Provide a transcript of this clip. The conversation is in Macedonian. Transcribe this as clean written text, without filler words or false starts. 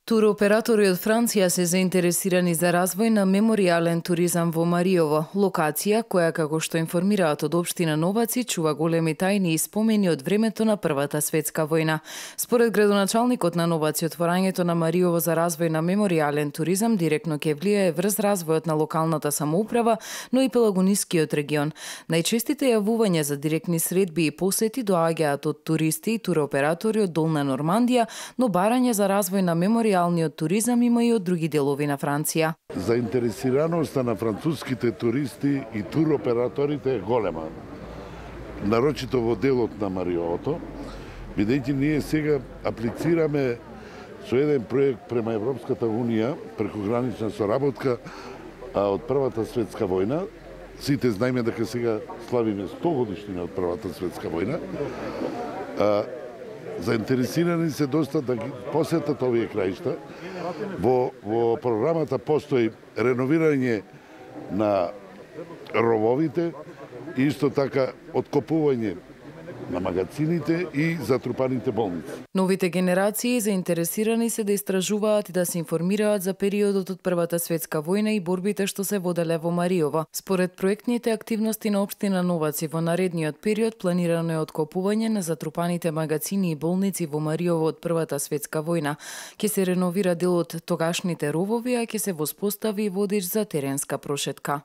Туроператори од Франција се заинтересирани за развој на меморијален туризам во Мариово, локација која, како што информираат од општина Новаци, чува големи тајни и спомени од времето на Првата светска војна. Според градоначалникот на Новаци, отворањето на Мариово за развој на меморијален туризам директно ќе влијае врз развојот на локалната самоуправа, но и пелагонискиот регион. Најчестите јавувања за директни средби и посети доаѓаат од туристи и туроператори од Долна Нормандија, но барање за развој на меморијалниот туризам има и од други делови на Франција. Заинтересираноста на француските туристи и туроператорите е голема. Нарочито во делот на Мариовото, бидејќи ние сега аплицираме со еден проект према Европската Унија, прекогранична соработка од Првата светска војна. Сите знаеме дека сега славиме 100 годишнина од Првата светска војна. Заинтересирани се доста да ги посетат овие краишта. Во програмата постои реновирање на рововите и исто така откопување на магазините и затрупаните болници. Новите генерации заинтересирани се да истражуваат и да се информираат за периодот од Првата светска војна и борбите што се воделе во Мариово. Според проектните активности на општина Новаци во наредниот период планирано е откопување на затрупаните магазини и болници во Мариово од Првата светска војна. Ќе се реновира дел од тогашните ровови, а ќе се воспостави и водич за теренска прошетка.